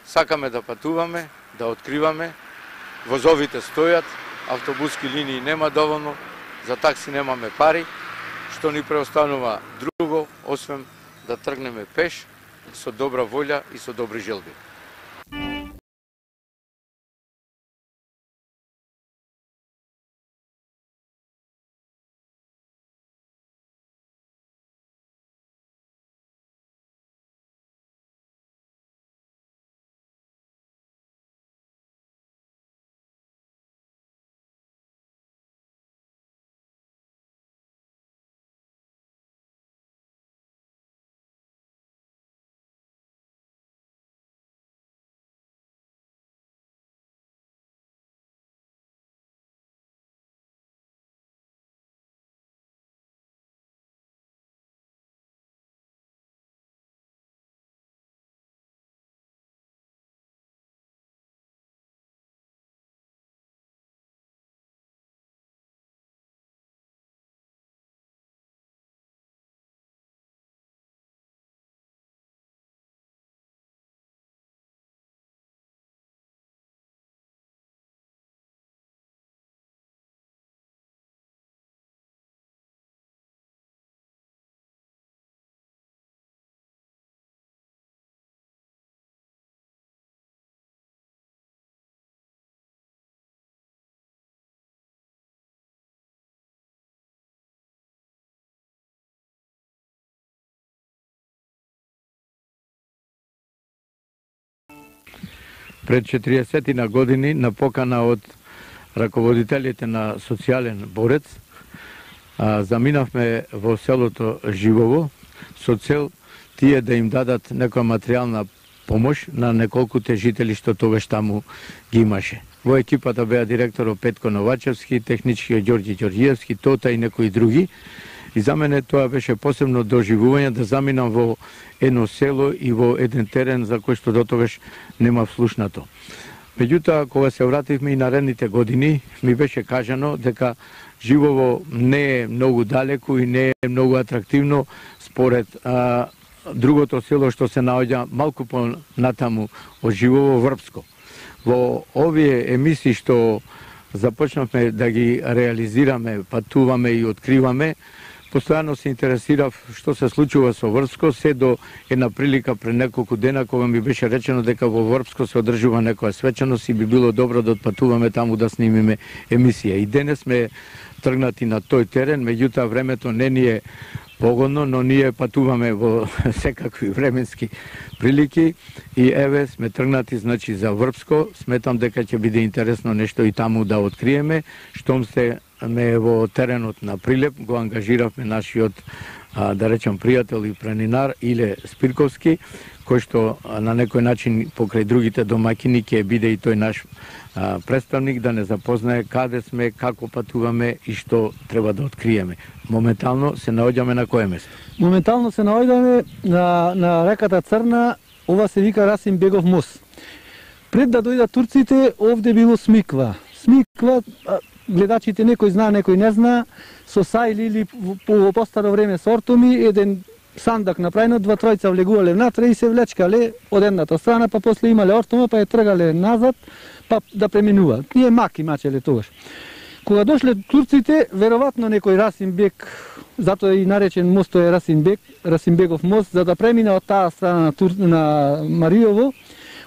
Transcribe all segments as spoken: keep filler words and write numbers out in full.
Сакаме да патуваме, да откриваме, возовите стојат, автобуски линии нема доволно, за такси немаме пари, што ни преостанува друго, освен да тргнеме пеш, со добра волја и со добри желби. Пред четириесет години на покана од раководителите на социјален борец заминавме во селото Живово со цел тие да им дадат некоја материјална помош на неколкуте жители што тогаш таму ги имаше. Во екипата беа директорот Петко Новачевски, техничкиот Ѓорѓи Ѓорѓиевски, Тота и некои други. И за мене тоа беше посебно доживување да заминам во едно село и во еден терен за кој што дотогаш немав слушнато. Меѓутоа, кога се вративме и наредните години, ми беше кажано дека Живово не е многу далеку и не е многу атрактивно според а, другото село што се наоѓа малку по натаму од Живово, Врбско. Во овие емисии што започнавме да ги реализираме, патуваме и откриваме, постојано се интересирав што се случува со Врбско, се до една прилика пред неколку дена кога ми беше речено дека во Врбско се одржува некоја свечаност и би било добро да отпатуваме таму да снимиме емисија. И денес сме тргнати на тој терен, меѓутоа времето не ни е погодно, но ние патуваме во секакви временски прилики и еве сме тргнати значи за Врбско. Сметам дека ќе биде интересно нешто и таму да откриеме. Штом се ме во теренот на Прилеп, го ангажиравме нашиот, а, да речем, пријател и планинар Иле Спирковски, кој што а, на некој начин покрај другите домакини ќе биде и тој наш а, представник да не запознае каде сме, како патуваме и што треба да откриеме. Моментално се наоѓаме на кое место? Моментално се наоѓаме на, на реката Црна, ова се вика Расим Бегов мост. Пред да дојдат турците, овде било Смиква. Смиква, гледачите некој знае, некој не знае, со сајли или по постаро време со ортоми, еден сандак направено, два тројца влегувале внатре и се влечкале од едната страна, па после имале ортома, па ја тргале назад, па да преминува. Ние маки мачеле тогаш. Кога дошле турците, веројатно некој Расим Бек, затоа и наречен мостот е Расим Бек, Расим Бегов мост, за да премина од таа страна на, Тур... на Мариово,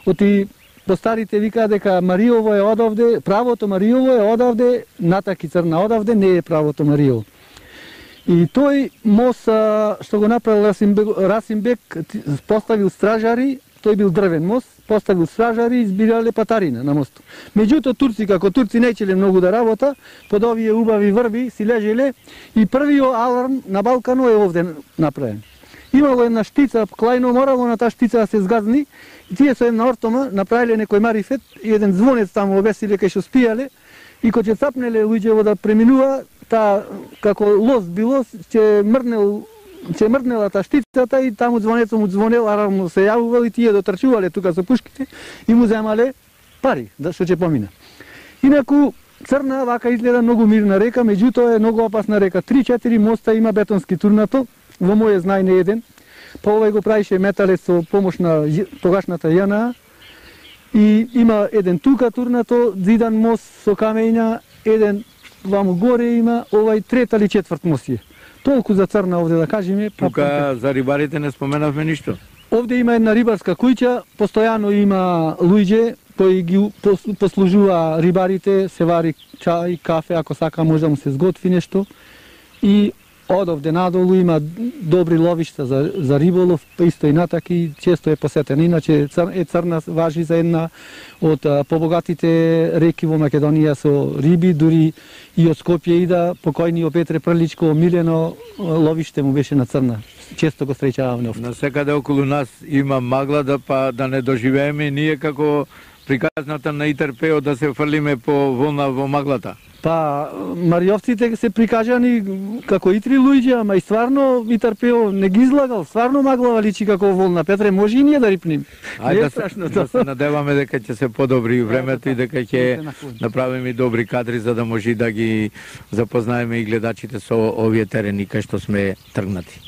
оти по старите вика дека Мариово е одавде, правото Мариово е одавде, натаки Црна одавде, не е правото Мариово. И тој мост што го направил Расим Бек, Расим Бек поставил стражари, тој бил дрвен мост, поставил стражари и избирале патарина на мостот. Меѓутоа турци, како турци неќеле многу да работа, под овие убави врви си лежеле и првиот аларм на Балкано е овде направен. Имало една штица, клајно морало на таа штица да се згазни, и тие со една ортома направиле некој марифет и еден звонец таму обесиле кај што спијале и кога ќе цапнеле луѓево да преминува, таа како лост било, ќе мрнел ќе мрнела таа штицата и таму звонецот му звонел, арам се јавувал и тие дотрчувале тука со пушките и му земале пари, да што ќе помина. Инаку Црна вака изгледа многу мирна река, меѓутоа е многу опасна река. три-четири моста има бетонски турнато, во моје знаење еден, па овој го правише металец со помош на тогашната Ја Н А и има еден тука турнато, зидан мост со камења, еден ваму горе има, овај трет или четврт мост е. Толку за Црна овде да кажеме. Тука за рибарите не споменавме ништо. Овде има една рибарска куќа, постојано има луѓе кои ги послужува рибарите, се вари чај, кафе, ако сака може да му се сготви нешто. И од овде надолу има добри ловишта за, за риболов, па исто и натаки, често е посетена. Иначе е Црна важи за една од побогатите реки во Македонија со риби, дури и од Скопје ида, покојниот Петре Прличко, омилено ловиште му беше на Црна. Често го среќаваме овде. На секаде околу нас има магла да па да не доживееме ние како приказната на Итер-Пео да се фрлиме по волна во маглата. Па, мариовците се прикажани како итри луѓе, ама и стварно Итер-Пео не ги излагал, стварно маглава личи како волна. Петре, може и ние да рипнем. Ајде да, се, да се надеваме дека ќе се подобри времето и дека ќе направиме добри кадри за да може да ги запознаеме и гледачите со овие терени кај што сме тргнати.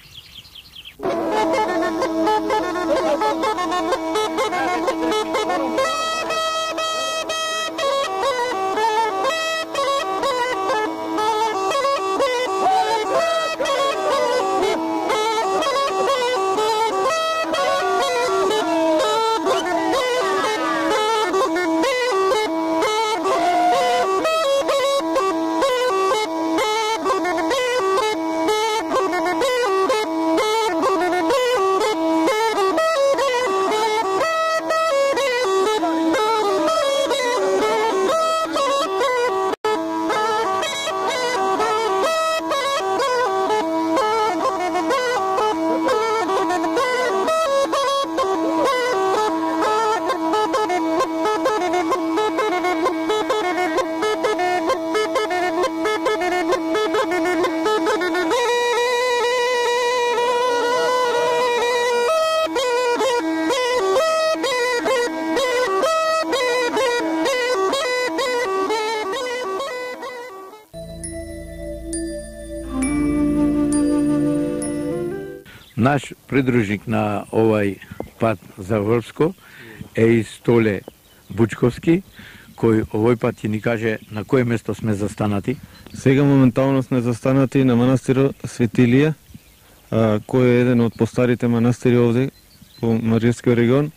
Наш придружник на овај пат за Врбско е и Столе Бучковски, кој овој пат ќе ни каже на кое место сме застанати. Сега моментално сме застанати на манастирот Светилија, а, кој е еден од постарите манастири овде во Мариевскиот регион,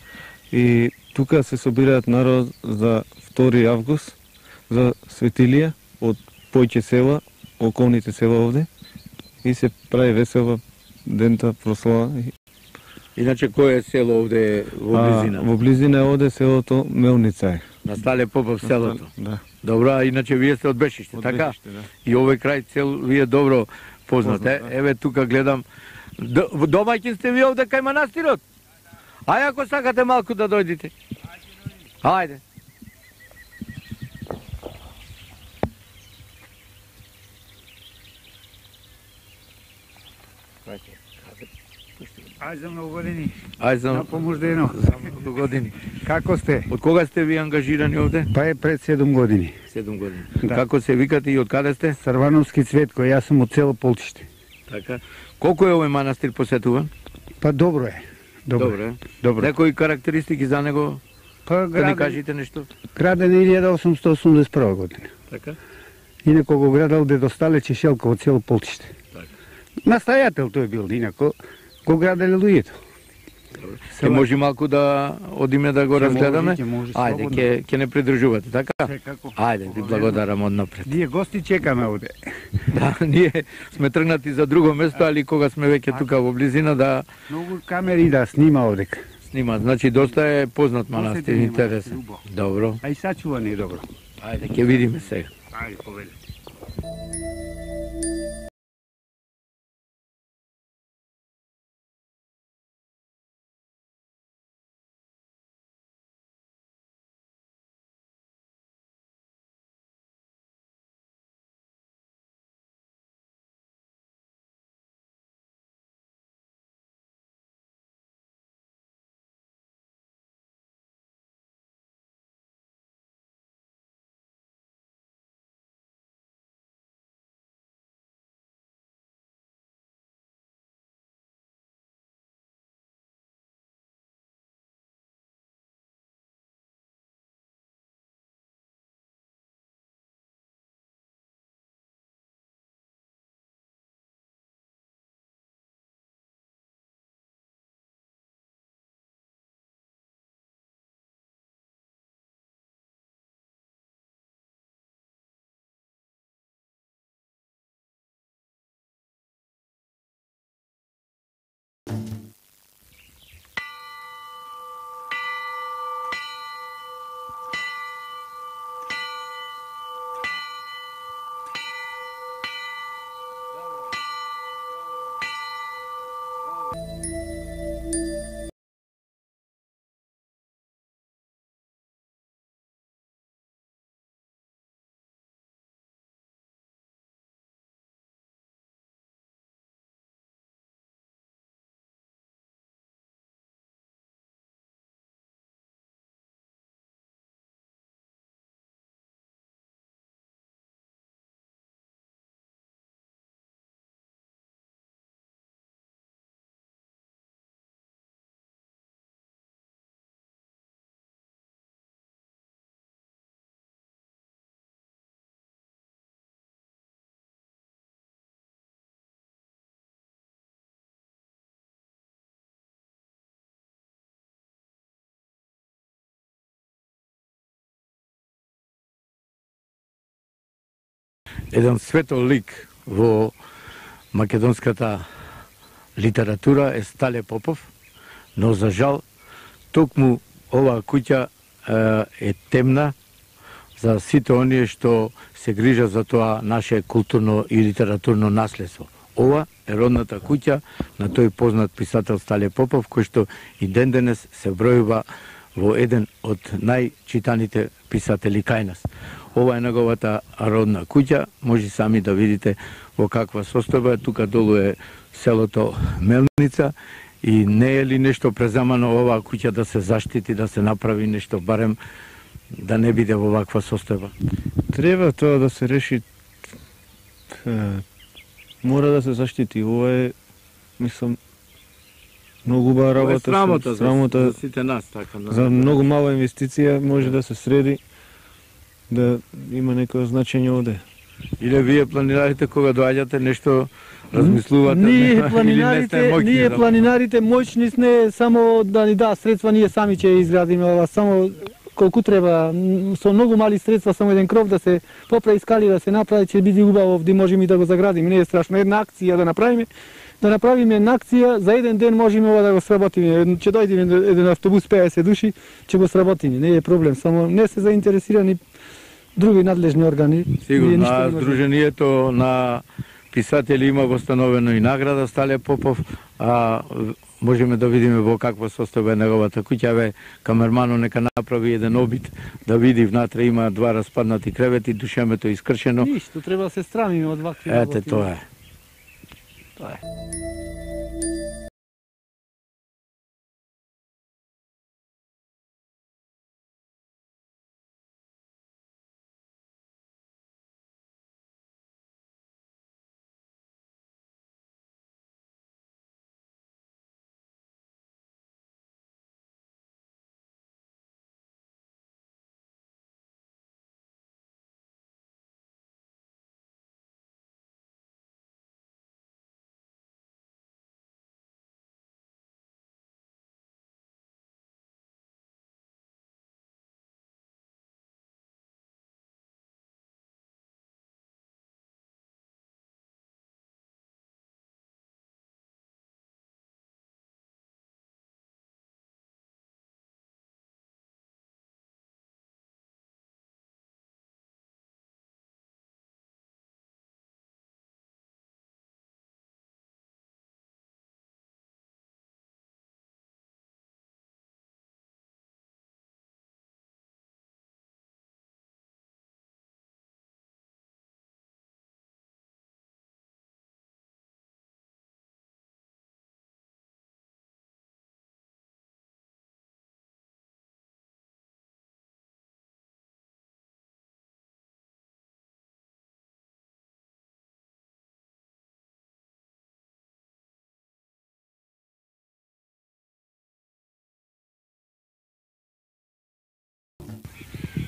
и тука се собираат народ за втори август за Светилија од појќе села, околните села овде, и се прави весела дента прослава. Иначе кој е село овде во близина? А, во близина е овде селото Мелница е. На Стале Попов селото. Да. Добро, а иначе вие сте од Бешиште, Од така? Бешиште, да. И овој крај цел вие добро познат. Познат, Е, да. еве тука гледам. Д- Домаќин сте вие овде кај манастирот? Ај ако сакате малку да дојдете. Ајде. Ај за многу години. Ај за На помождено. за многу години. Како сте? Од кога сте ви ангажирани овде? Па е пред седум години. седум години. Да. Како се викате и од каде сте? Срвановски Цветко, јас сум од село Полчиште. Така. Колку е овој манастир посетуван? Па добро е. Добро, Добро е. Добро. Некои карактеристики за него? Па Да ни граден, кажете нешто? граден е илјада осумстотини осумдесет и прва година. Така. Инако го градал дедо Стале Чешелко од село Полчиште. Така. Настојател тој бил, инако го граделе луѓето. Ќе може малку да одиме да го Ќе разгледаме? може, ќе може, Ајде, слободно. ќе ќе не придружувате, така? Секако. Ајде, ви благодарам однапред. Ние гости чекаме овде. Да, ние сме тргнати за друго место, али кога сме веќе тука во близина да Многу камери да снима овдека. снима. Значи доста е познат манастир, Посетен е интересен. манастир, убав. Добро. А и сачуван е добро. Ајде, ќе видиме сега. Ајде, повеле. еден светол лик во македонската литература е Стале Попов, но за жал токму оваа куќа е темна за сите оние што се грижат за тоа наше културно и литературно наследство. Ова е родната куќа на тој познат писател Стале Попов, кој што и ден денес се бројува во еден од најчитаните писатели кај нас. Ова е неговата родна куќа, може сами да видите во каква состојба. Тука долу е селото Мелница и не е ли нешто преземано оваа куќа да се заштити, да се направи нешто барем да не биде во ваква состојба? Треба тоа да се реши, мора да се заштити. Ова е, мислам, многу убава работа. Срамота, срамота за, за сите нас, така. За многу мала инвестиција може да се среди, да има некој значење овде. Или вие планирате кога доаѓате нешто размислувате? Ние не, планинарите, не моќни, ние да... планинарите моćни сме само да ни да средства, ние сами ќе изградиме ова, само колку треба, со многу мали средства, само еден кров да се поправи, скали да се направи, ќе биде убаво, овде можеме и да го заградиме, не е страшно. Една акција да направиме, да направиме една акција, за еден ден можеме ова да го сработиме. Ќе дојдеме еден автобус пеесет души, ќе го сработиме, не е проблем, само не се заинтересирани други надлежни органи. Сигурно, а Сдруженијето на писатели има востановено и награда Стале Попов, а можеме да видиме во каква состојба е неговата куќа. Ве, камермано нека направи еден обид да види внатре има два распаднати кревети, душемето искршено. Ништо, треба да се страмиме од вакви Ете, работи. тоа е. Тоа е.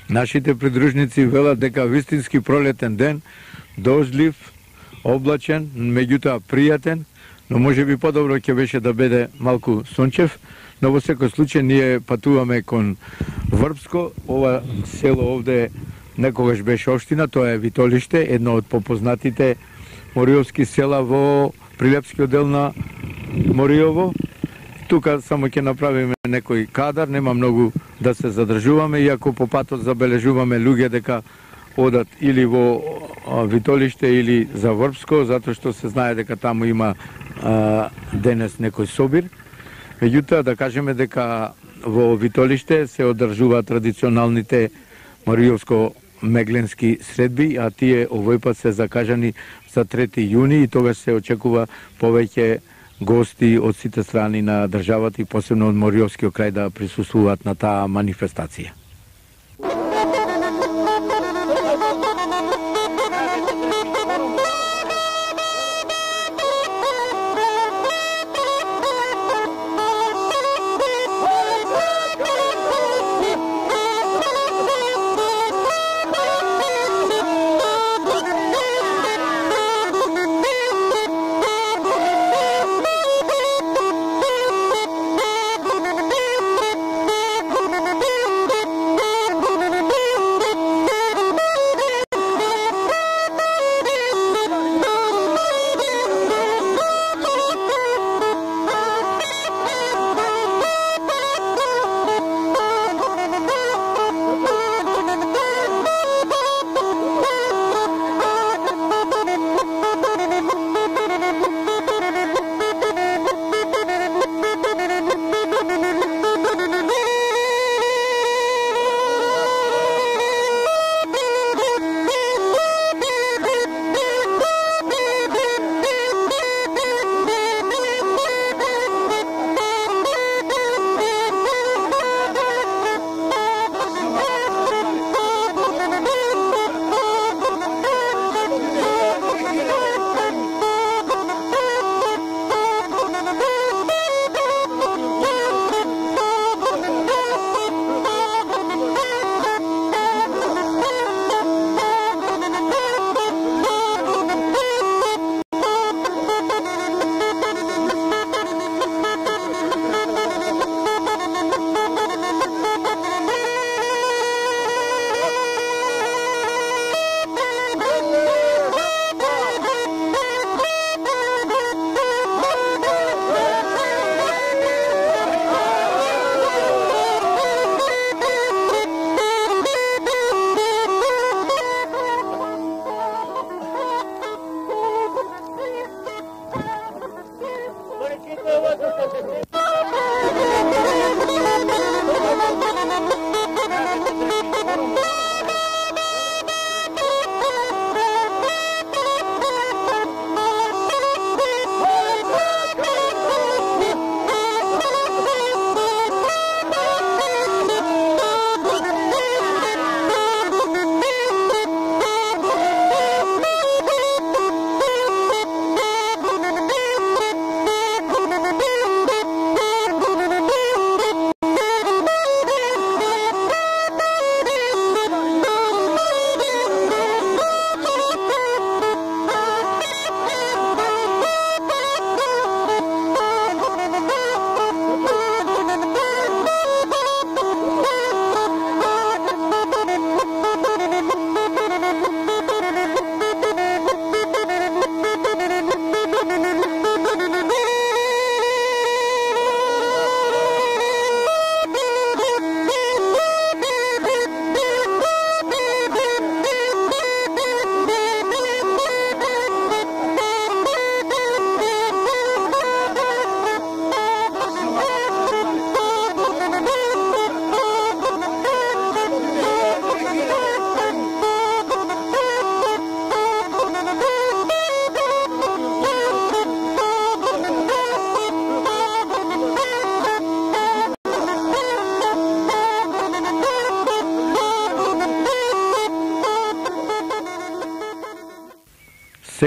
Нашите придружници велат дека вистински пролетен ден, дождлив, облачен, меѓутоа пријатен, но може би подобро ќе беше да биде малку сончев, но во секој случај ние патуваме кон Врбско. Ова село овде некогаш беше општина, тоа е Витолиште, едно од попознатите мориовски села во Прилепскиот дел на Мориово. Тука само ќе направиме некој кадар, нема многу да се задржуваме, иако по патот забележуваме луѓе дека одат или во Витолиште или за Врбско, затоа што се знае дека таму има а, денес некој собир. Меѓутоа да кажеме дека во Витолиште се одржуваат традиционалните мориовско-мегленски средби, а тие овој пат се закажани за трети јуни и тогаш се очекува повеќе гости од сите страни на државата и посебно од Мориовскиот крај да присуствуваат на таа манифестација.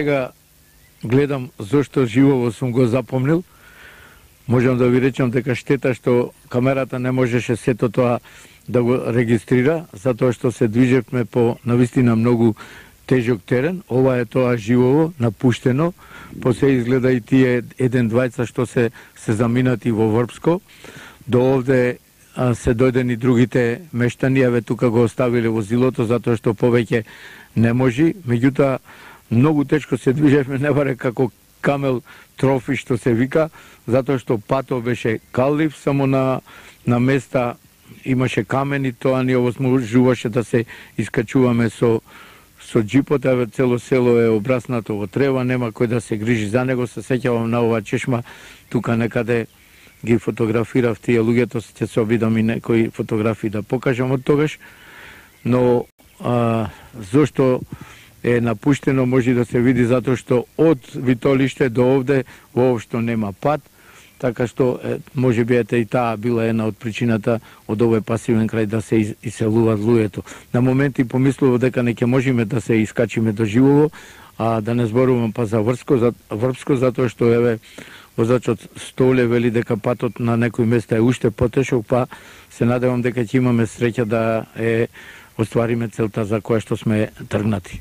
сега гледам зошто живово сум го запомнил. Можам да ви речам дека штета што камерата не можеше сето тоа да го регистрира, затоа што се движевме по навистина многу тежок терен. Ова е тоа живово, напуштено. После изгледа и тие еден двајца што се се заминати во Врпско. До овде а, се дојдени другите мештани, еве тука го оставиле возилото затоа што повеќе не можи. Меѓутоа многу тешко се движевме, не баре како камел трофи што се вика, затоа што патот беше калив, само на на места имаше камени, тоа ни овозможуваше да се искачуваме со со джипот, еве цело село е обраснато во трева, нема кој да се грижи за него. Се сеќавам на оваа чешма, тука некаде ги фотографирав тие луѓето, ќе се обидам и некои фотографии да покажам од тогаш, но а, зошто е напуштено може да се види затоа што од Витолиште до овде воопшто нема пат, така што е, може би ете и таа била една од причината од овој пасивен крај да се иселуваат луѓето. На моменти помислував дека не ќе можеме да се искачиме до живово, а да не зборувам па за Врпско, за Врпско затоа што еве возачот Столе вели дека патот на некои места е уште потешок, па се надевам дека ќе имаме среќа да е оствариме целта за која што сме тргнати.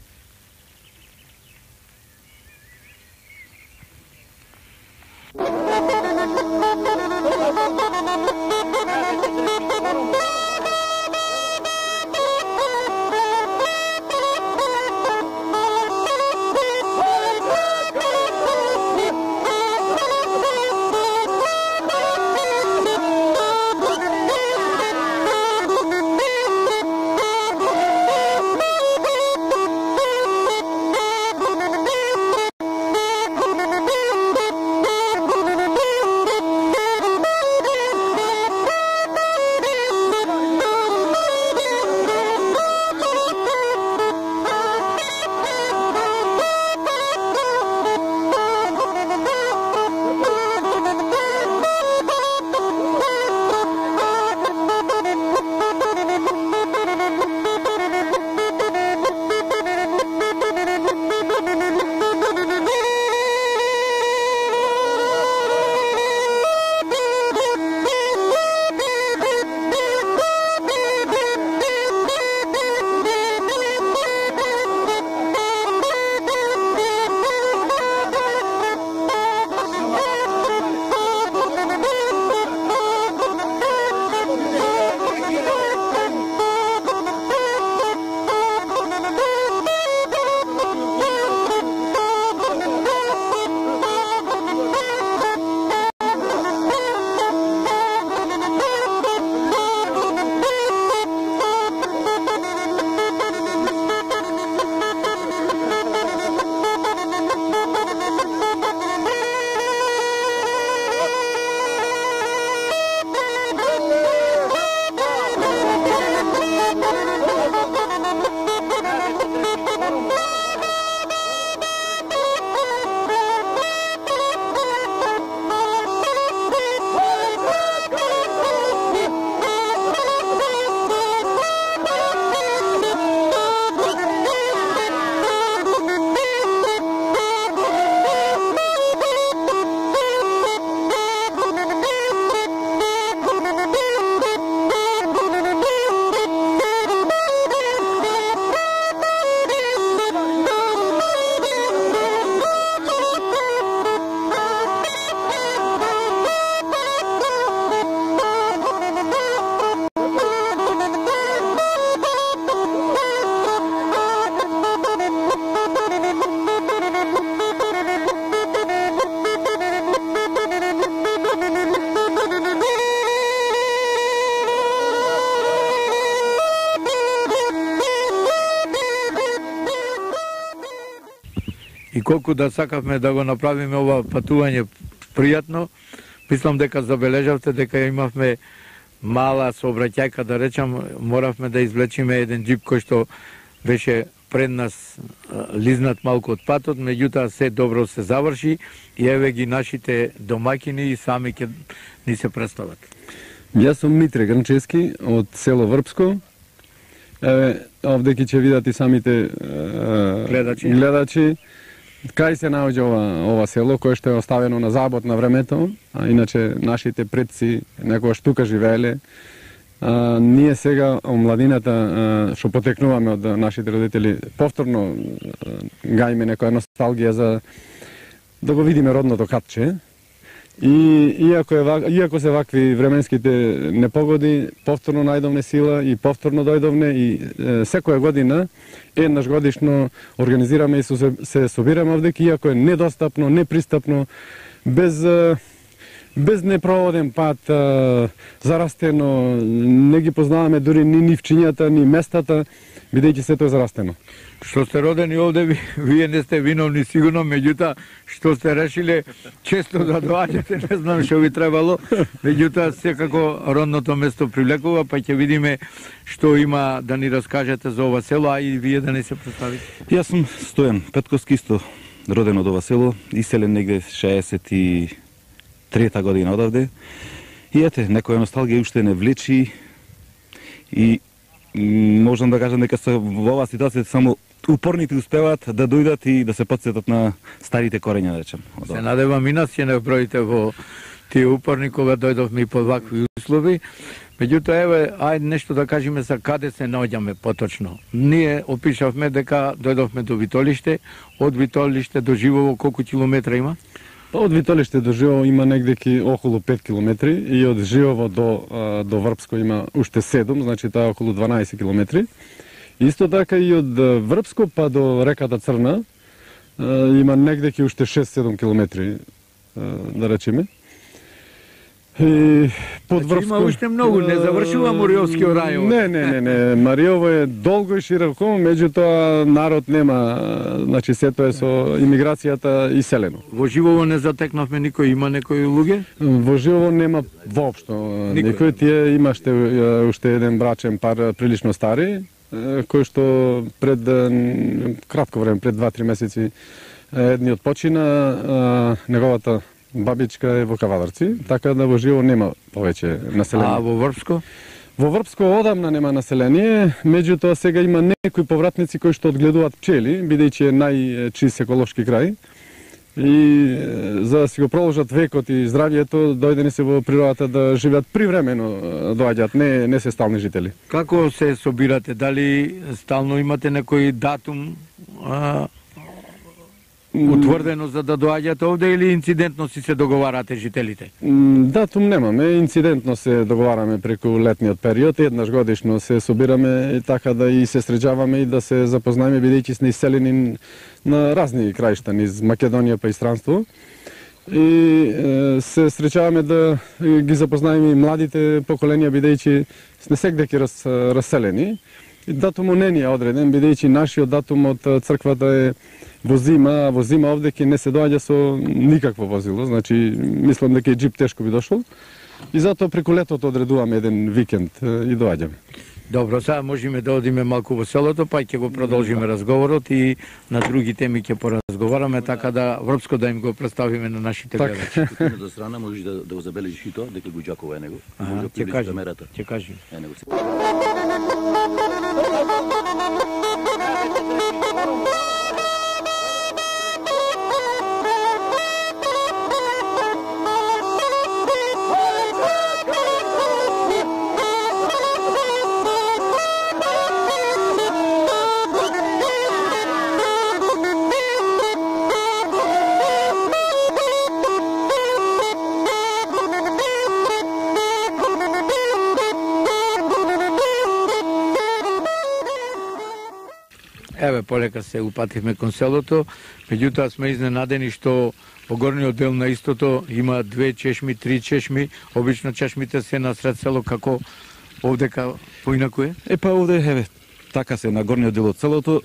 И колку да сакавме да го направиме ова патување пријатно, мислам дека забележавте дека имавме мала сообраќајка, да речам, моравме да извлечиме еден џип кој што беше пред нас лизнат малку од патот, меѓутоа се добро се заврши и еве ги нашите домаќини и сами ќе ни се представат. Јас сум Митре Грнчески од село Врпско. Еве овде ќе видат и самите е, гледачи. гледачи. Кај се наоѓа ова, ова село, кое што е оставено на забот на времето, а иначе нашите предци некогаш тука живееле. А, ние сега, омладината, а, што потекнуваме од нашите родители, повторно а, гајме некоја носталгија за да го видиме родното катче. И иако, е, иако се вакви временските непогоди, повторно најдовне сила и повторно дојдовне и е, секоја година, еднаш годишно организираме и се, се собираме овдеки, иако е недостапно, непристапно, без, без непроводен пат, зарастено, не ги познаваме дури ни нивчињата, ни местата, бидејќи сето е зарастено. Што сте родени овде, ви, вие не сте виновни сигурно, меѓутоа што сте решиле често да доаѓате, не знам што ви требало, меѓутоа секако родното место привлекува, па ќе видиме што има да ни раскажете за ова село, а и вие да не се представите. Јас сум Стојан Петковски, исто роден од ова село, иселен негде шеесет и трета година одавде. И ете, некоја носталгија уште не влечи и можам да кажам дека се во оваа ситуација само упорните успеваат да дојдат и да се потсетат на старите корења, да речем. Се надевам и нас ќе не броите во тие упорни кога дојдовме и под вакви услови. Меѓутоа, еве, ајде нешто да кажеме за каде се наоѓаме поточно. Ние опишавме дека дојдовме до Витолиште, од Витолиште до Живово колку километра има? Од Витолиште до Живово има негде околу пет километри и од Живово до, до Врпско има уште седум, значи таа околу дванаесет километри. Исто така и од Врпско па до реката Црна има негде уште шест-седум километри, да речеме. И под значи, Врпско... има уште многу, не завршува Мориовскиот рајон. Не, не, не, не, Мариово е долго и широко, меѓутоа народ нема, значи сето е со имиграцијата иселено. Во Живово не затекнавме никој, има некои луѓе? Во Живово нема воопшто никој. никој. Тие имаште уште еден брачен пар прилично стари, кој што пред кратко време, пред два-три месеци, едниот почина, неговата бабичка е во Кавадарци, така да во Живово нема повеќе население. А во Врпско? Во Врпско одамна нема население, меѓутоа сега има некои повратници кои што одгледуваат пчели, бидејќи е најчист еколошки крај. И за да си го продолжат векот и здравјето, дојдени се во природата да живеат привремено, доаѓаат, не, не се стални жители. Како се собирате? Дали стално имате некој датум а, утврдено за да доаѓате овде или инцидентно си се договарате жителите? Датум немаме, инцидентно се договараме преку летниот период, еднаш годишно се собираме и така да и се среќаваме и да се запознаеме, бидејќи сме иселени на разни краишта низ Македонија па и странство. И е, се среќаваме да ги запознаеме и младите поколенија, бидејќи сме сегдеки раз, разселени. И датумот не ни е одреден, бидејќи нашиот датум од црквата е во зима, во зима овде ќе не се доаѓа со никакво возило, значи мислам дека и джип тешко би дошол. И затоа преку летото одредуваме еден викенд и доаѓаме. Добро, сега можеме да одиме малку во селото, па ќе го продолжиме разговорот и на други теми ќе поразговараме, така да Врпско да им го представиме на нашите гледачи. Од едната страна можеш да, да го забележиш и тоа, дека го џакува е него. Ќе кажи, ќе кажи. Е него. Еве, полека се упативме кон селото, меѓутоа сме изненадени што во горниот дел на истото има две чешми, три чешми, обично чешмите се на сред село, како овдека поинаку е? Е, па овде, еве, така се на горниот дел од селото.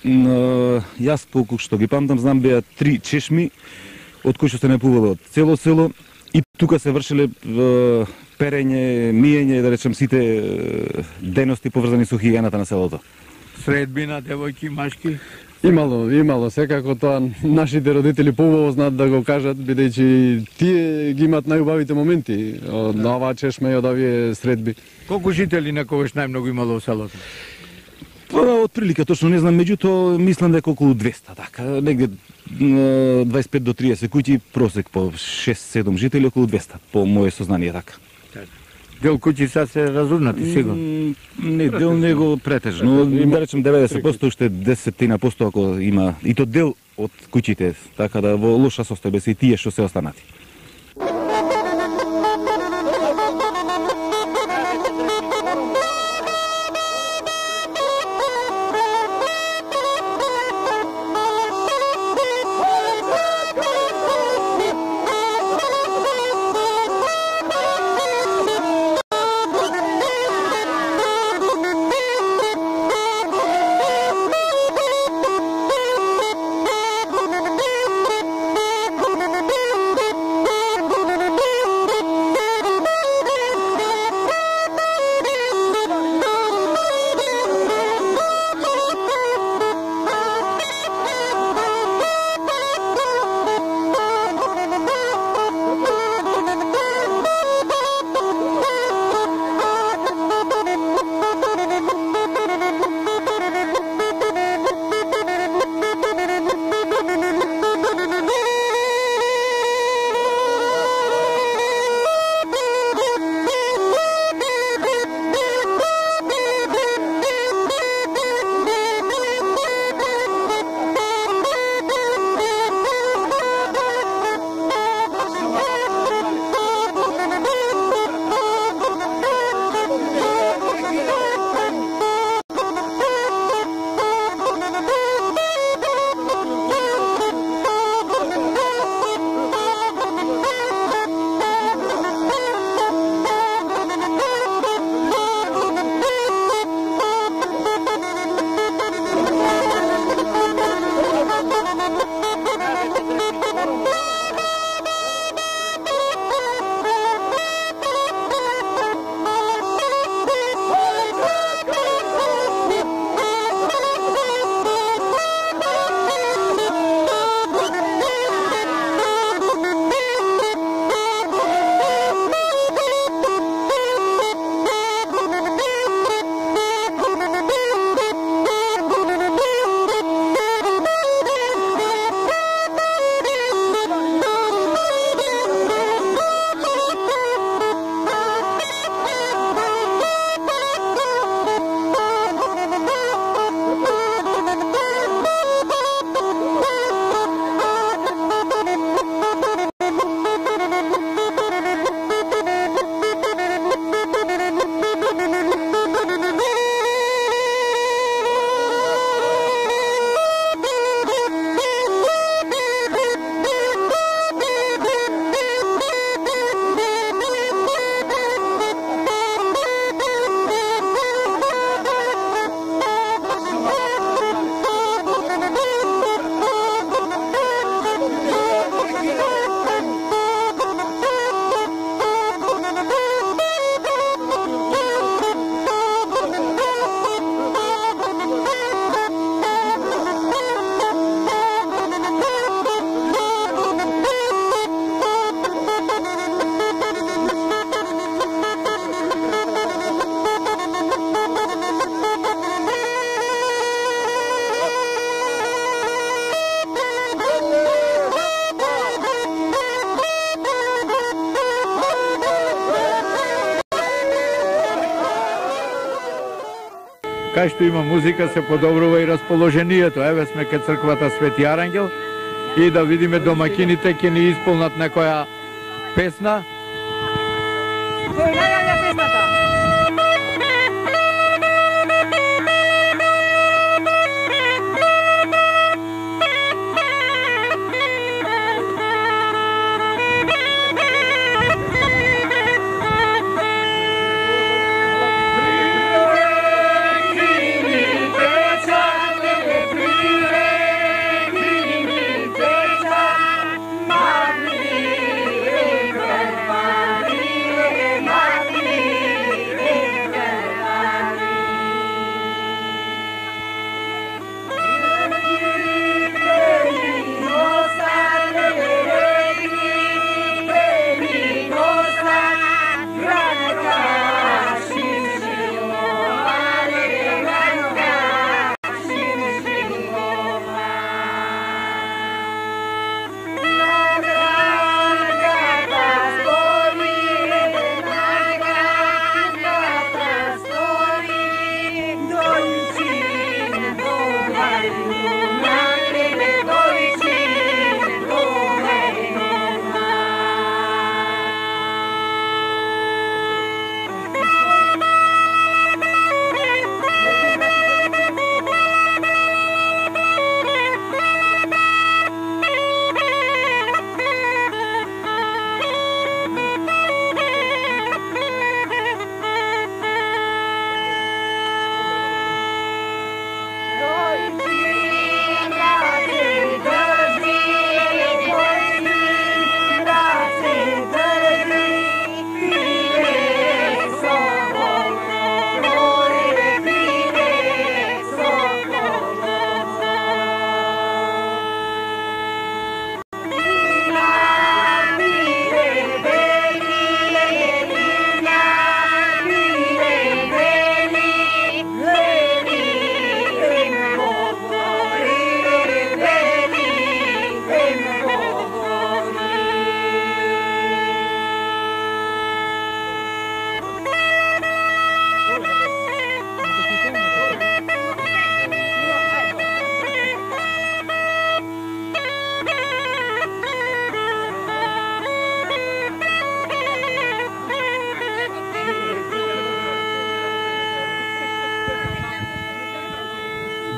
Но, јас, колку што ги памтам, знам беа три чешми, од кои што се напувало од цело село, и тука се вршеле е, перење, миење, да речем, сите дености поврзани со хигиената на селото. Средбина, девојки, машки? Имало, имало, секако тоа нашите родители поубаво знаат да го кажат, бидејќи тие ги имаат најубавите моменти од оваа чешма и од овие средби. Колку жители некогаш најмногу имало во селото? Па, отприлика точно не знам, меѓутоа мислам дека околу двесте, така, негде дваесет и пет до триесет куќи, просек по шест-седум жители, околу двесте, по моје сознание, така. Дел куќи са се разурнати, сигурно? Не, дел него претежно, да речем деветдесет проценти, уште десет проценти ако има, и то дел од куќите, така да во лоша состојба се и тие што се останати. Кај што има музика се подобрува и расположението. Еве сме кај црквата Свети Арангел и да видиме домакините ќе ни исполнат некоја песна. Кој најавја песната? Mami,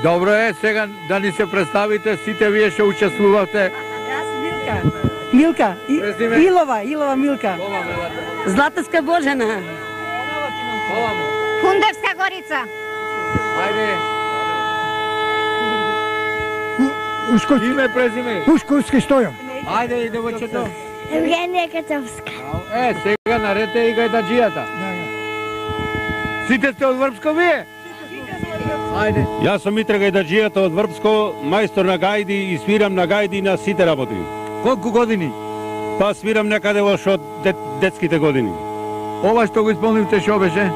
Добро е, сега да ни се представите, сите вие ще учествувате. Јас Милка. Милка. И, Презиме? Илова, Илова Милка. Златевска Божена. Овамо. Хундевска Горица. Ајде. Ушковски, Име, презиме. Ушковски Стојан. Ајде, девојчето. Евгенија Кацовска. Е, сега нарете и гајдаджијата. Сите сте од Врбско вие? Ајде. Јас сум Митре Гајдаджијата од Врбско, мајстор на гајди и свирам на гајди на сите работи. Колку години? Па свирам некаде во од дет, детските години. Ова што го исполнивте шо беше?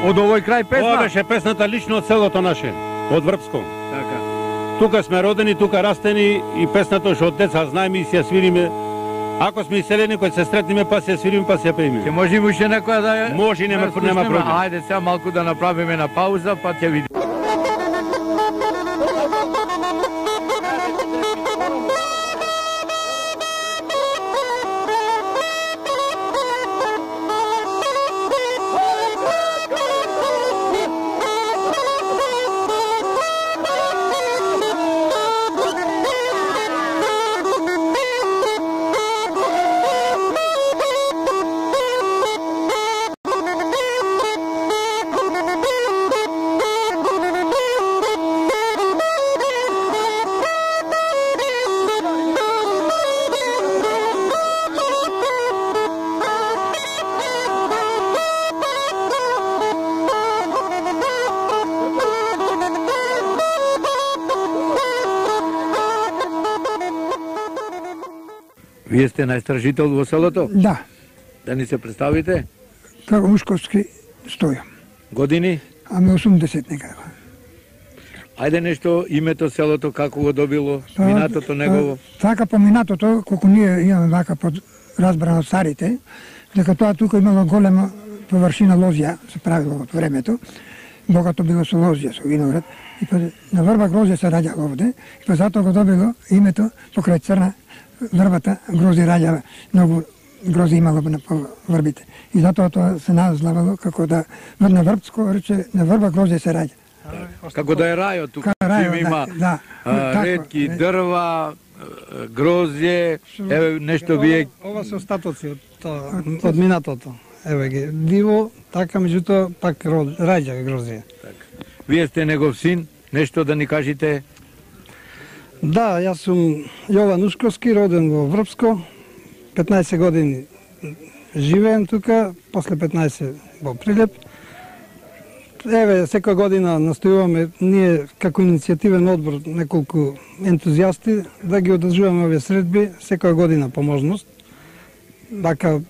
Од овој крај песна? Ова беше песната лично од селото наше, од Врбско. Така. Тука сме родени, тука растени и песната што од деца знаеме и си ја свириме. Ако сме иселени, кој се сретниме, па си ја свириме, па си ја пееме. Ќе може уште некоја да ја... Може, нема, да нема слушнеме? проблем. Ајде сега малку да направиме на пауза, па ќе видиме. Вие сте најстражител во селото? Да, Да ни се представите? како Ушковски Стојан. Години? Аме осумдесет некаде. Ајде нешто, името селото, како го добило, минатото негово. Така по минатото, колку ние имаме вака под разбрано од старите, дека тоа тука имало голема површина лозја, се правило во времето, богато било со лозја, со виноград, и па на врба грозје се раѓало овде, и па затоа го добило името покрај црна врбата грози раѓа, многу грози имало на по врбите. И затоа тоа се назвавало како да на врбско рече на врба грози се раѓа. Како да е рајот тука, рајот, чим има да, а, така, ретки не. дрва, грозје, еве нешто вие... Ова се остатоци од тоа, од минатото. Еве ги, диво, така меѓутоа пак род- раѓа грозија. Вие сте негов син, нешто да ни кажете? Да, јас сум Јован Ушковски, роден во Врбско, петнаесет години живеем тука, после петнаесет во Прилеп. Еве, секоја година настојуваме ние како иницијативен одбор неколку ентузијасти да ги одржуваме овие средби секоја година по можност. Дака,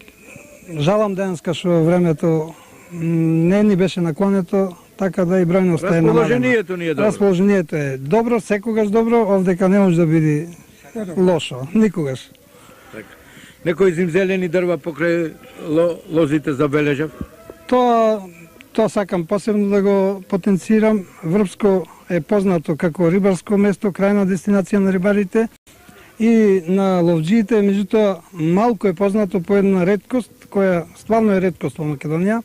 жалам денеска што времето не ни беше наклонето, така да и бројноста е намалена. Расположението ни е добро. Расположението е добро, секогаш добро, овдека не може да биде лошо, никогаш. Некои зимзелени дрва покрај ло, лозите забележав? Тоа тоа сакам посебно да го потенцирам. Врбско е познато како рибарско место, крајна дестинација на рибарите и на ловџиите, меѓутоа малку е познато по една реткост, која стварно е реткост во Македонија,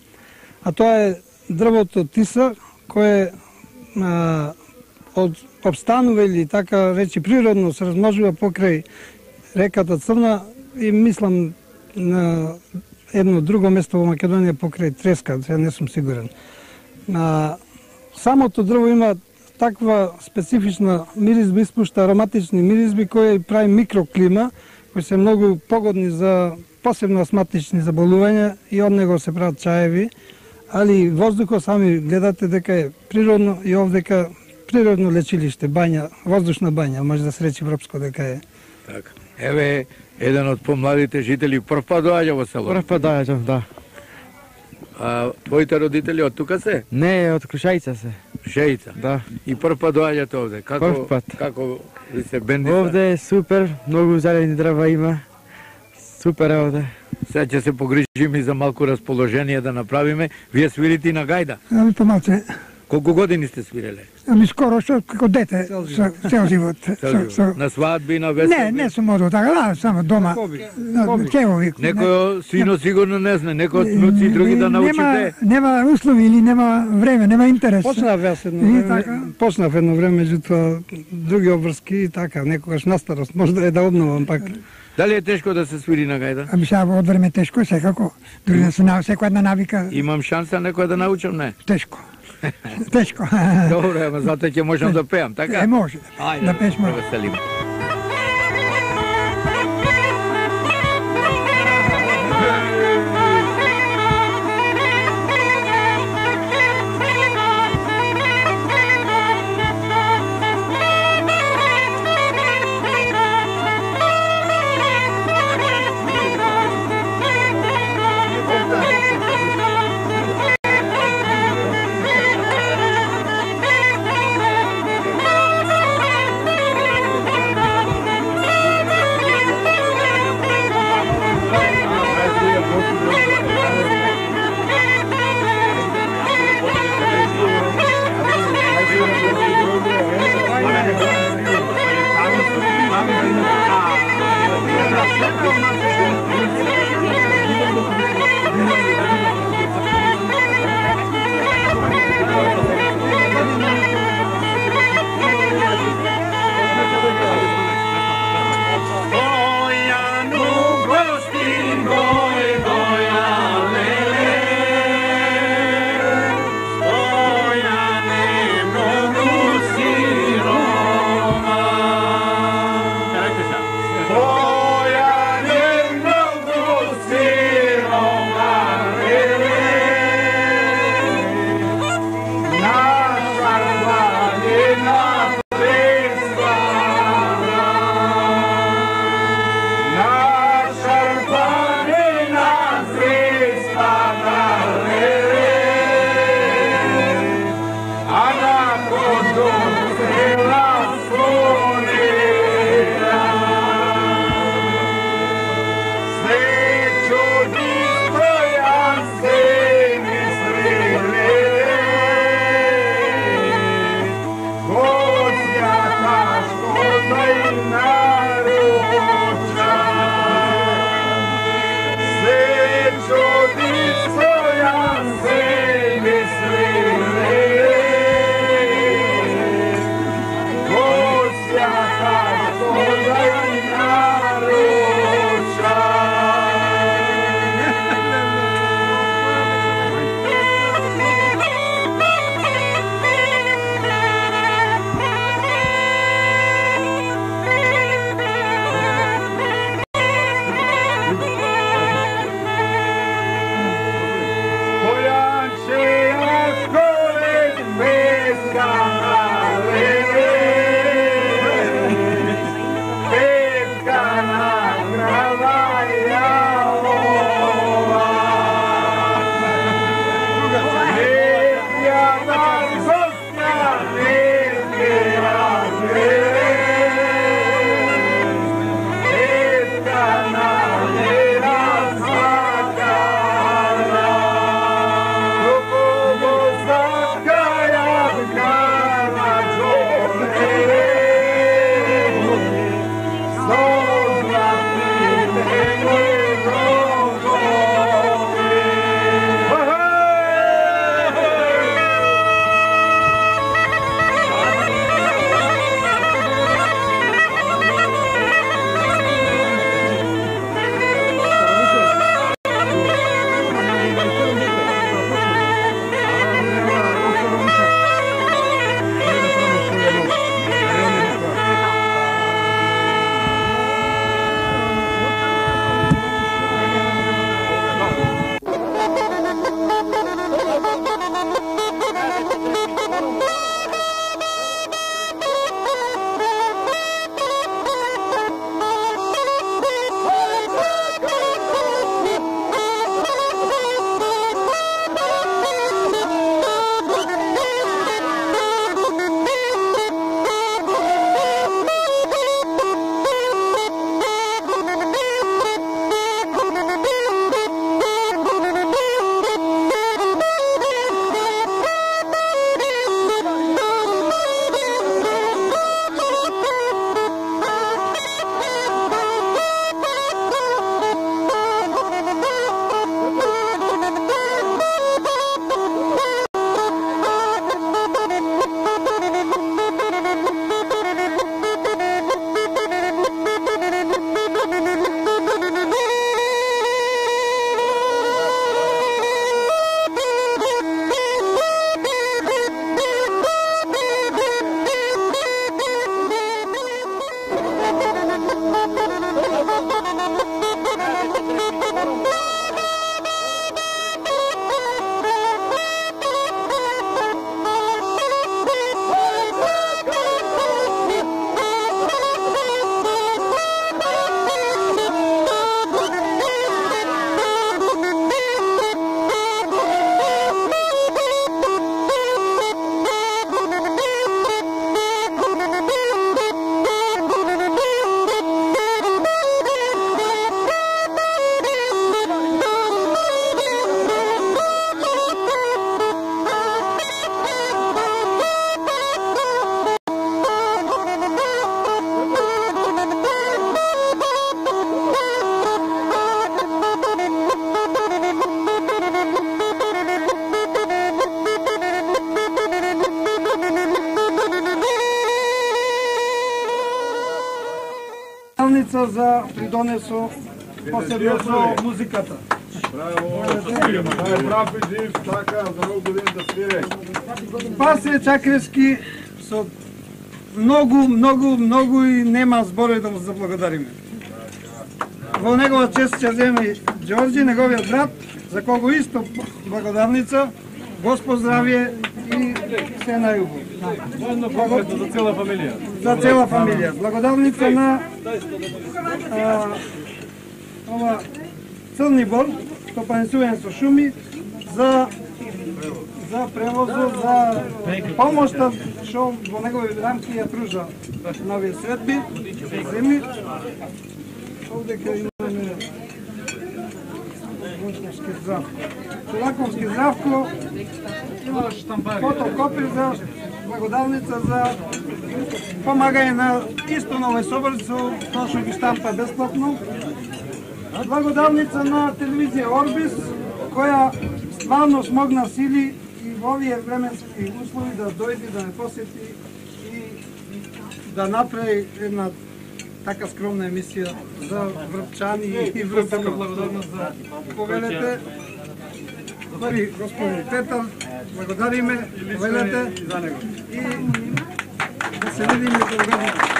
а тоа е дрвото тиса, кое а, од обстанува или така речи природно се размножува покрај реката Црна и мислам на едно друго место во Македонија покрај Треска, сега не сум сигурен. А, самото дрво има таква специфична миризба, испушта ароматични миризби кои прави микроклима, кои се многу погодни за посебно астматични заболувања и од него се прават чаеви, али воздухот сами гледате дека е природно и овдека природно лечилиште, бања, воздушна бања, може да се речи Врбско дека е. Така. Еве, еден од помладите жители прв пат доаѓа во село. Прв пат доаѓам, да. А твоите родители од тука се? Не, од Крушајица се. Шејица. Да. И прв пат доаѓате овде. Како Прв пат. како ви се бендица? Овде е супер, многу зелени дрва има. Супер е овде. Сега ќе се погрижиме и за малку расположение да направиме. Вие свирите и на гајда. Ами помалце. Колку години сте свиреле? Ами скоро што како дете, цел живот. Цел живот. Цел живот. На свадби, на весели? Не, не сум одел така, да, само дома. Кевови. Некој сино сигурно не знае, некој од внуци и други да научите. Нема услови или нема време, нема интерес. Почнав јас едно време, почнав едно време, меѓутоа други обврски и така, некогаш на старост, може да е да обновам пак. Дали е тешко да се свири на гајда? Ами сега од време тешко, секако. Дури да се на секоја една навика. Имам шанса некој да научам, не? Тешко. Тешко. Добро, ама затоа ќе можам да пеам, така? Е, може. Ајде, да пееш може. Веселим. благодалница за придонесо посебно со музиката. Пасе Чакрески со многу, многу, многу и нема зборови да му заблагодариме. Во негова чест ќе земе Ѓорѓи, неговиот брат, за кого исто благодарница, Господ здравие и се најубаво. За цела фамилија. За цела фамилија. Благодарница на а, ова Црни Бор, стопанисување со шуми, за за превозот, за помошта што во негови рамки ја пружа на овие средби, земји. Овде кај имаме Чулаковски здравко. Чулаковски здравко има фотокопи за благодарница за помагање на исто на овој соборцу, тоа што ги штампа бесплатно. Благодарница на телевизија Орбис, која стварно смогна сили и во овие временски услови да дојде, да не посети и да направи една така скромна емисија за Врпчани и Врпска благодарност за повелете. Први господин Петар, благодариме, повелете и да се видиме кога.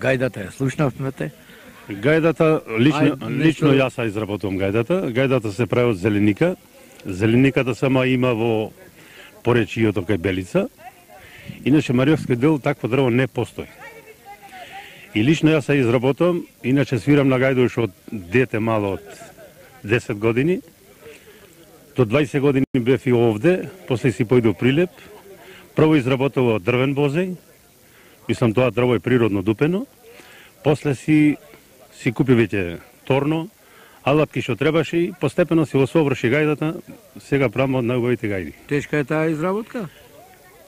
Гајдата ја слушнавме те. Гајдата, лично, Ај, лично нешто- јас ја изработувам гајдата. Гајдата се прави од зеленика. Зелениката сама има во поречијето кај Белица. Иначе Мариовски дел такво дрво не постои. И лично јас ја изработувам, иначе свирам на гајда уште од дете мало од десет години. До двајсет години бев и овде, после си појду Прилеп. Прво изработував дрвен бозеј, мислам тоа дрво е природно дупено. После си си купи веќе торно, алатки што требаше и постепено си осоврши гајдата, сега правам од најубавите гајди. Тешка е таа изработка?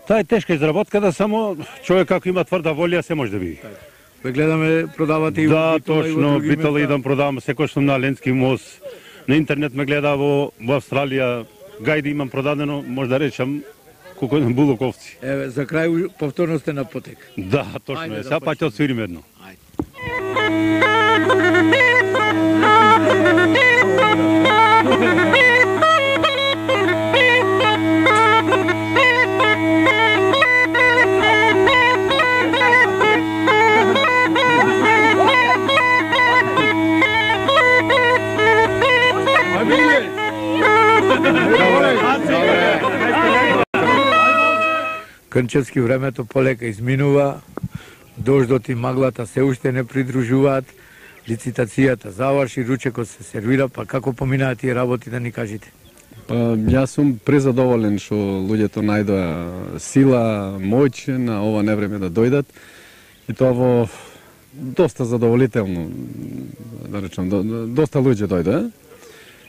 Таа е тешка изработка, да само човек ако има тврда волја се може да види. Ве гледаме продавате и Да, во Битола и во точно, други битола места. идам продавам, секој сум на Ленски мост. На интернет ме гледа во, во Австралија, гајди имам продадено, може да речам, колку на булоковци. Еве, за крај повторно сте на потек. Да, точно Ајде е. да Сега па ќе отсвириме едно. Крнчевски времето полека изминува, дождот и маглата се уште не придружуваат, лицитацијата заврши, ручекот се сервира, па како поминаат тие работи, да ни кажете? Па, јас сум презадоволен што луѓето најдоа сила, моќ на ова невреме да дојдат и тоа во доста задоволително, да речам, до, доста луѓе дојдоа,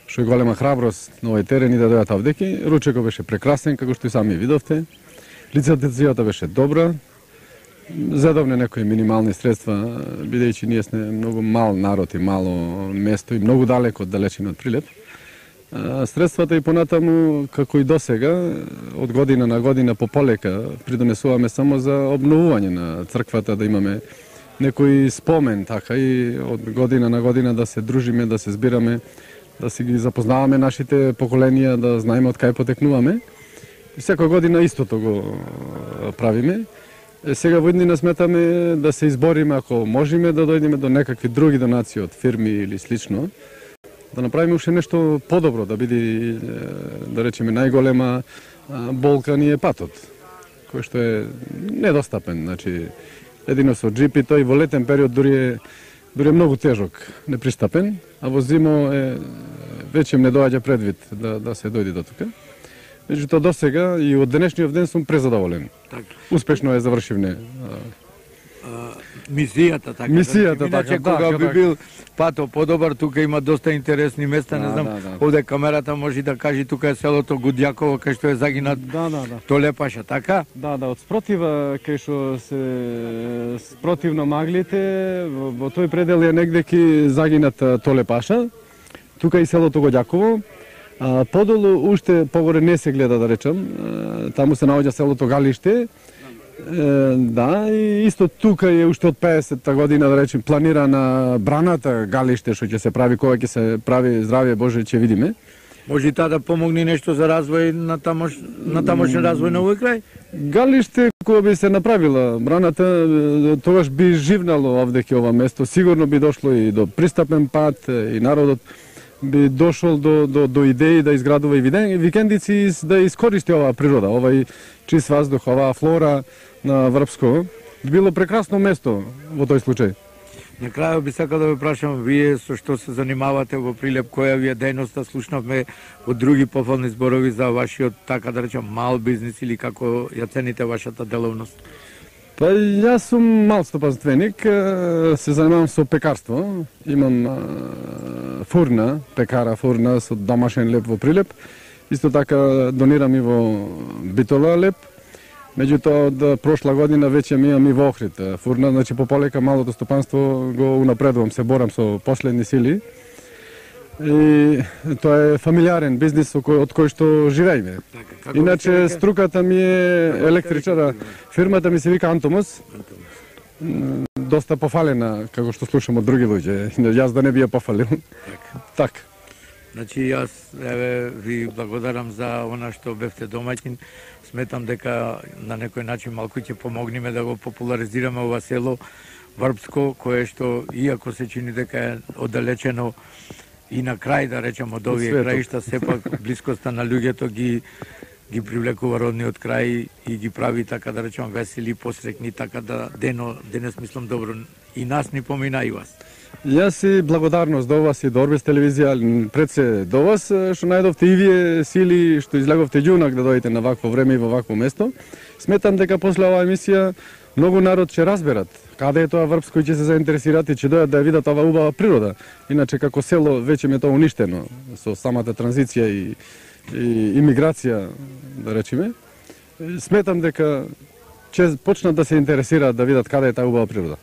што е голема храброст на овој терен и да дојдат овдеки. Ручекот беше прекрасен, како што и сами видовте. Лицитацијата беше добра. Задовне некои минимални средства, бидејќи ние сме многу мал народ и мало место и многу далеко од далечина од Прилеп. Средствата и понатаму, како и досега, од година на година пополека придонесуваме само за обновување на црквата, да имаме некој спомен, така и од година на година да се дружиме, да се збираме, да си ги запознаваме нашите поколенија, да знаеме од кај потекнуваме. И секоја година истото го правиме. Е, сега во иднина сметаме да се избориме, ако можеме, да дојдеме до некакви други донации од фирми или слично, да направиме уште нешто подобро, да биде, да речеме, најголема болка ни е патот, кој што е недостапен. Значи, едино со джипи, тој во летен период дури е, дури е многу тежок, непристапен, а во зимо е веќе не доаѓа предвид да, да се дојде до тука. Меѓутоа до сега и од денешниот ден сум презадоволен. Так. Успешно е завршивне. Мисијата, така. Мисијата, Иначе, така, кога да, би да. бил пато подобар, тука има доста интересни места, не Да, знам, да, да. овде камерата може да кажи, тука е селото Гудјаково, кај што е загинат Да, да, да. Толепаша, така? Да, да, од спротива кај што се спротивно маглите, во, во тој предел е негдеки загинат Толепаша, тука и селото Гудјаково. А, подолу уште погоре не се гледа, да речам, а, таму се наоѓа селото Галиште. Е, да, и исто тука е уште од педесетта година, да речем, планирана браната Галиште, што ќе се прави, кога ќе се прави, здравје Боже, ќе видиме. Може и таа да помогне нешто за развој на тамош, на тамошен развој на овој крај? Галиште, кога би се направила браната, тогаш би живнало овдеќе ова место, сигурно би дошло и до пристапен пат, и народот би дошол до, до, до идеи да изградува и викендици и да искористи оваа природа, овај чист воздух, оваа флора на Врбско. Било прекрасно место во тој случај. На крајот би сакал да ве прашам, вие со што се занимавате во Прилеп, која ви е дејноста? Слушнавме од други пофални зборови за вашиот, така да речам, мал бизнис или како ја цените вашата деловност? Па јас сум мал стопанственик, се занимавам со пекарство. Имам а, фурна, пекара фурна со домашен леп во Прилеп. Исто така донирам и во Битола леп. Меѓутоа од прошла година веќе ми имам и во Охрид фурна, значи пополека малото стопанство го унапредувам, се борам со последни сили. И тоа е фамилиарен бизнис од кој што живееме. Така, иначе струката ми е електричара. Фирмата ми се вика Антомос. Доста пофалена, како што слушам од други луѓе. Јас да не би ја пофалил. Така. Значи јас еве ви благодарам за она што бевте домаќин. Сметам дека на некој начин малку ќе помогнеме да го популаризираме ова село Врбско, кое што иако се чини дека е оддалечено и на крај, да речем, од овие краишта, сепак блискоста на луѓето ги ги привлекува родниот крај и ги прави, така да речем, весели, посрекни, така да дено, денес мислам добро и нас ни помина и вас. Јас и благодарност до вас и до Орбис телевизија, пред се до вас, што најдовте и вие сили, што излеговте ѓунак да дојдете на вакво време и во вакво место. Сметам дека после оваа емисија многу народ ќе разберат каде е тоа Врбско и ќе се заинтересираат и ќе дојдат да ја видат оваа убава природа. Иначе како село веќе ме тоа уништено со самата транзиција и, и имиграција, да речеме. Сметам дека ќе почнат да се интересираат да видат каде е таа убава природа.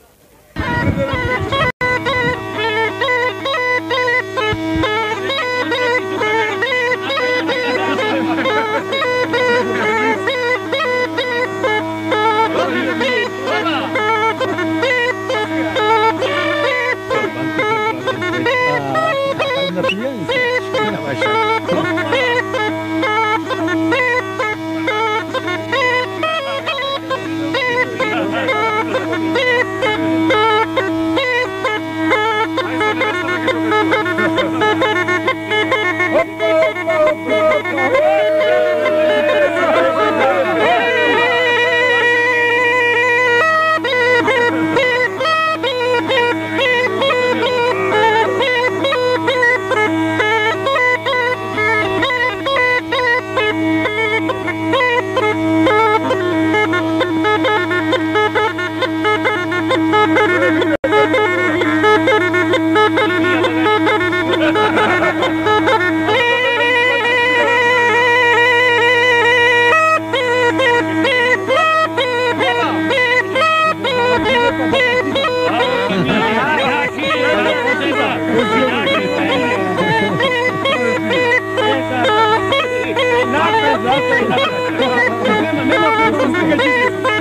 Само слика